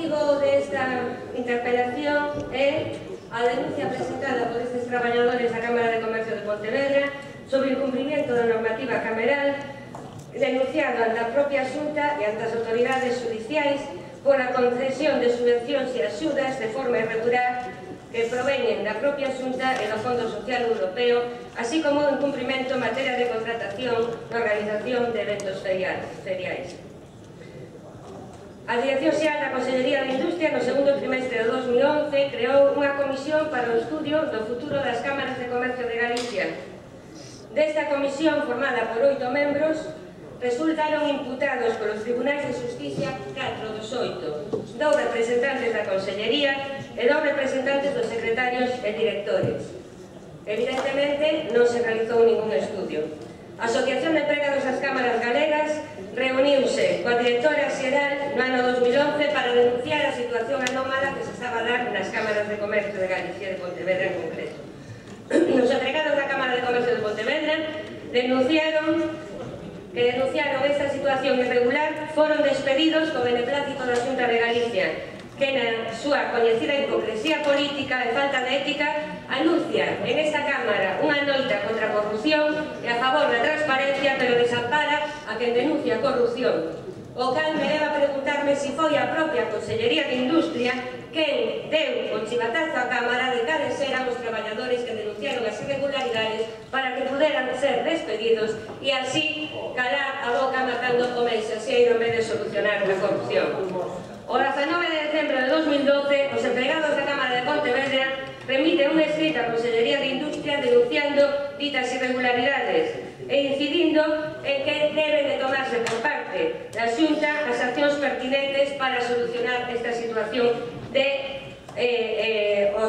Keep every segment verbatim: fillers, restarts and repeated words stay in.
motivo desta interpelación é a denuncia presentada por estes traballadores da Cámara de Comercio de Pontevedra sobre o incumprimento da normativa cameral denunciado ante a propia Xunta e ante as autoridades judiciais pola concesión de subvencións e axudas de forma irregular que proveñen da propia Xunta e do Fondo Social Europeo, así como o incumprimento en materia de contratación na organización de eventos feriais. A Dirección Xeral da Consellería de Industria no segundo trimestre de dos mil once creou unha comisión para o estudio do futuro das cámaras de comercio de Galicia. Desta comisión, formada por oito membros, resultaron imputados polos tribunais de Xusticia catro dos oito, dous representantes da Consellería e dous representantes dos secretarios e directores. Evidentemente, non se realizou ningún estudio. A Asociación de Empregados das Cámaras Galegas reuniuse coa directora xeral no ano dos mil once para denunciar a situación anómala que se estaba a dar nas cámaras de comercio de Galicia, de Pontevedra en concreto. Os empregados da Cámara de Comercio de Pontevedra denunciaron que denunciaron esta situación irregular foron despedidos co beneplácito da Xunta de Galicia, que na súa coñecida hipocresía política e falta de ética anuncia en esta Cámara unha loita contra a corrupción e a favor da transparencia, pero desampara a quen denuncia a corrupción. O cal me leva a preguntarme se foi a propia Consellería de Industria quen deu o chivatazo á Cámara de cales eran os traballadores que denunciaron as irregularidades para que puderan ser despedidos e así calar a boca matando o mensaxeiro en vez de solucionar a corrupción. O dezanove de decembro de dos mil doce, os empregados da Cámara de Pontevedra remiten unha escrita á Consellería de Industria denunciando ditas irregularidades e incidindo en que deben de tomarse por parte da Xunta as accións pertinentes para solucionar esta situación de eh, eh, o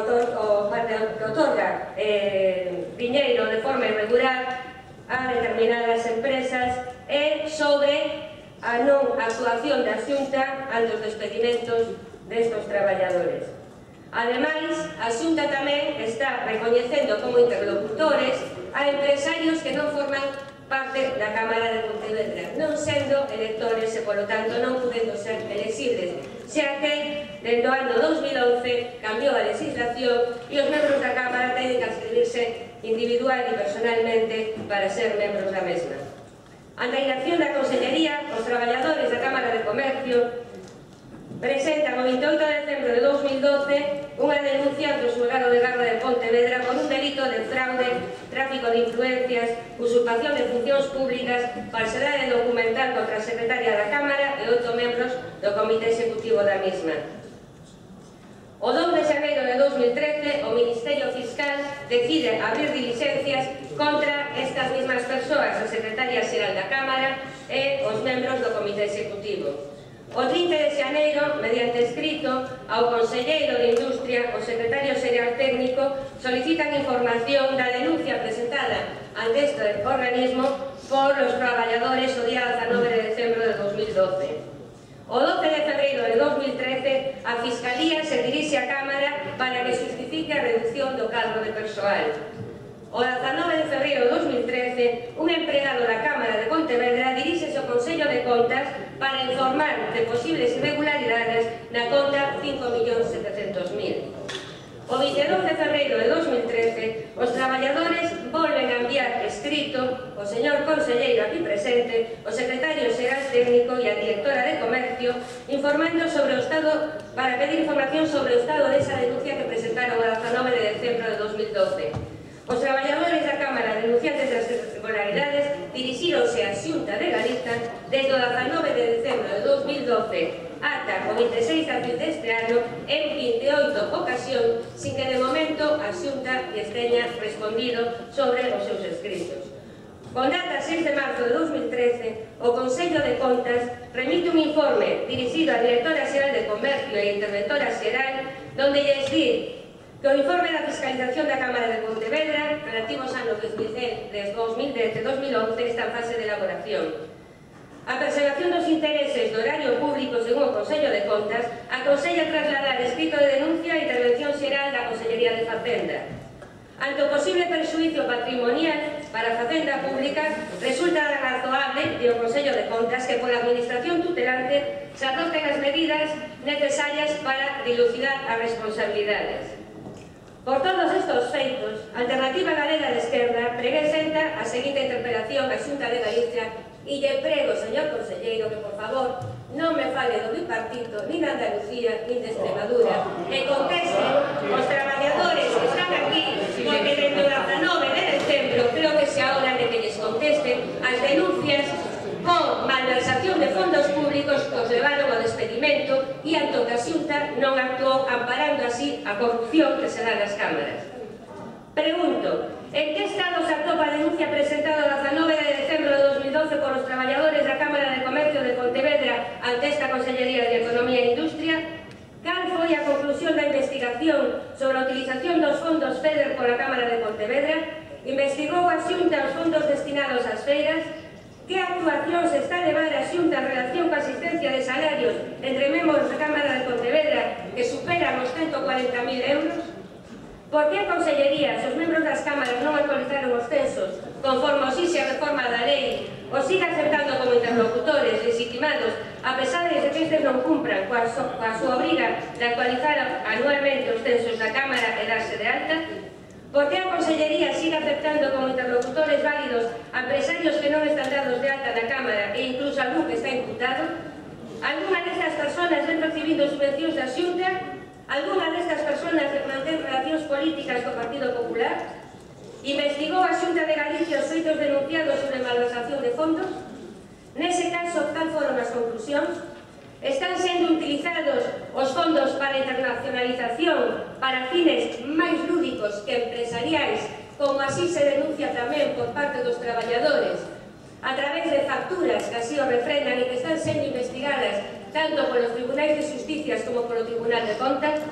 que otorga eh, diñeiro de forma irregular a determinadas empresas e sobre a non actuación da Xunta ante os despedimentos destos traballadores. Ademais, a Xunta tamén está recoñecendo como interlocutores a empresarios que non forman parte da Cámara de Pontevedra, non sendo electores e, polo tanto, non podendo ser elexibles, xa que, dentro do ano dos mil once, cambiou a legislación e os membros da Cámara teñen que inscribirse individual e personalmente para ser membros da mesma. Ante a inacción da Consellería, os traballadores da Cámara de Comercio presentan o veintioito de decembro de dos mil doce unha denuncia ante o xulgado de garda de Pontevedra por un delito de fraude, tráfico de influencias, usurpación de funcións públicas, falsedade documental contra a secretaria da Cámara e oito membros do Comité Executivo da mesma. O dous de xaneiro de dos mil trece, o Ministerio Fiscal decide abrir diligencias contra estas mesmas persoas, a Secretaria Xeral da Cámara e os membros do Comité Executivo. O trinta de xaneiro, mediante escrito, ao Conselleiro de Industria, o Secretario Xeral Técnico, solicitan información da denuncia presentada ante este organismo por os traballadores o día dezanove de decembro de dos mil doce. O doce de febreiro de dos mil trece, a Fiscalía se dirixe á Cámara para que justifique a reducción do cadro de persoal. O dezanove de febreiro de dos mil trece, un empregado da Cámara de Pontevedra dirixese ao Consello de Contas para informar de posibles irregularidades na conta cinco millóns setecentos mil. O vinte e dous de febreiro de dos mil trece, os traballadores volven a enviar escrito o señor conselleiro aquí presente, o secretario xeral técnico e a directora de Comercio informando sobre o estado, para pedir información sobre o estado desa denuncia que presentaron o dezanove de decembro de dos mil doce. Os traballadores da Cámara denunciantes das irregularidades dirixíronse á Xunta de Galiza desde o dezanove de decembro de dos mil doce ata o vinte e seis de abril deste ano en vinte e oito ocasións sin que de momento a Xunta lles teña respondido sobre os seus escritos. Con data seis de marzo de dos mil trece, o Consello de Contas remite un informe dirixido á Directora Xeral de Comercio e a Interventora Xeral donde lles di que o informe da Fiscalización da Cámara de Pontevedra relativo aos anos dos mil dez e dos mil once está en fase de elaboración. A preservación dos intereses do horario público según o Consello de Contas aconsella trasladar escrito de denuncia a intervención xeral da Consellería de Facenda. Ante o posible perxuízo patrimonial para a Facenda Pública, resulta razoable, di o Consello de Contas, que pola Administración tutelar tutelante se adopten as medidas necesarias para dilucidar as responsabilidades. Por todos estes feitos, a Alternativa Galega de Esquerda presenta a seguinte interpelación á Xunta de Galicia e lle prego, señor conselleiro, que por favor non me fale do bipartito, nin de Andalucía, nin de Extremadura, e conteste os traballadores que están aquí, porque dentro da dezanove de decembro creo que xa hora de que lles contesten as denuncias por malversación de fondos públicos que os levaron ao despedimento e anto que a Xunta non actuou amparando así a corrupción que se dá nas cámaras. Pregunto, en que estado se atopa a denuncia presentada o dezanove de decembro de dos mil doce por os traballadores da Cámara de Comercio de Pontevedra ante esta Consellería de Economía e Industria? Cal foi a conclusión da investigación sobre a utilización dos fondos FEDER pola Cámara de Pontevedra? Investigou a Xunta os fondos destinados ás feiras? Que actuación se está a levar a Xunta en relación coa asistencia de salarios entre membros da Cámara de Pontevedra que superan os ciento cuarenta mil euros? Por que a Consellería, se os membros das cámaras non actualizaron os censos conforme os ixe a reforma da lei, os siga aceptando como interlocutores legitimados a pesar de que estes non cumpran coa, so, coa súa obriga de actualizar anualmente os censos da Cámara e darse de alta? Por que a Consellería sigue aceptando como interlocutores válidos a empresarios que non están dados de alta na Cámara e incluso algún que está imputado? Alguna destas persoas ven recibindo subvencións da Xunta? Alguna destas persoas mantén relacións políticas co Partido Popular? Investigou a Xunta de Galicia os feitos denunciados sobre malversación de fondos? Nese caso, cal foron as conclusións? Están sendo utilizados os fondos para a internacionalización para fines máis lúdicos que empresariais, como así se denuncia tamén por parte dos traballadores, a través de facturas que así o refrendan e que están sendo investigadas tanto polos tribunais de Justicia como polo Tribunal de Contas.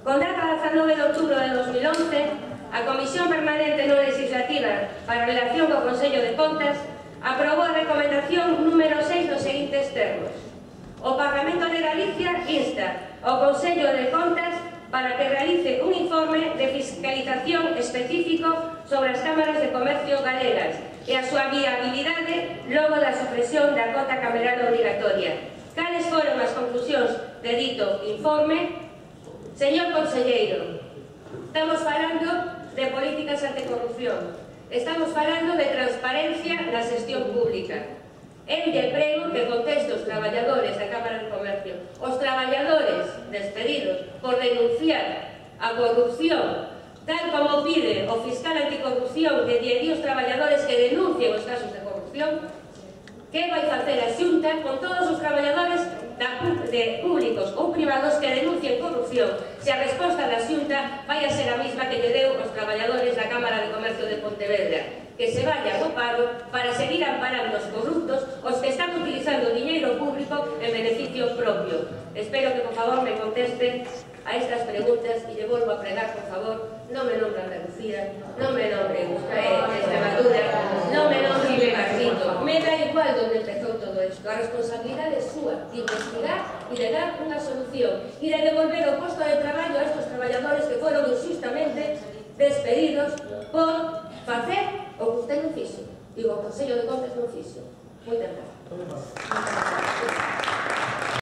Con data dezanove de outubro de dos mil once, a Comisión Permanente Non Legislativa para a Relación co Consello de Contas aprobou a recomendación número seis nos seguintes termos. O Parlamento de Galicia insta ao Consello de Contas para que realice un informe de fiscalización específico sobre as cámaras de comercio galegas e a súa viabilidade logo da supresión da cota cameral obrigatoria. Cales foron as conclusións de dito informe? Señor conselleiro, estamos falando de políticas anticorrupción, estamos falando de transparencia na xestión pública. Eu lle prego que conteste os traballadores da Cámara de Comercio, os traballadores despedidos por denunciar a corrupción, tal como pide o fiscal anticorrupción que lle os traballadores que denuncien os casos de corrupción. Que vai facer a Xunta con todos os traballadores de públicos ou privados que denuncien corrupción, se a resposta da Xunta vai a ser a mesma que lle deu os traballadores da Cámara de Comercio de Pontevedra, que se vayan ao paro para seguir amparando os corruptos, os que están utilizando diñeiro público en beneficio propio. Espero que, por favor, me conteste a estas preguntas e lle volvo a pregar, por favor, non me nombre Andalucía, non me nombre Extremadura, non me nombre Bipartito. Me da igual onde empezou todo isto. A responsabilidade é súa de investigar e de dar unha solución e de devolver o posto de traballo a estes traballadores que foron injustamente despedidos por facer o que usted non fixo. Digo, o Consello de Contas non fixo. Moitas gracias.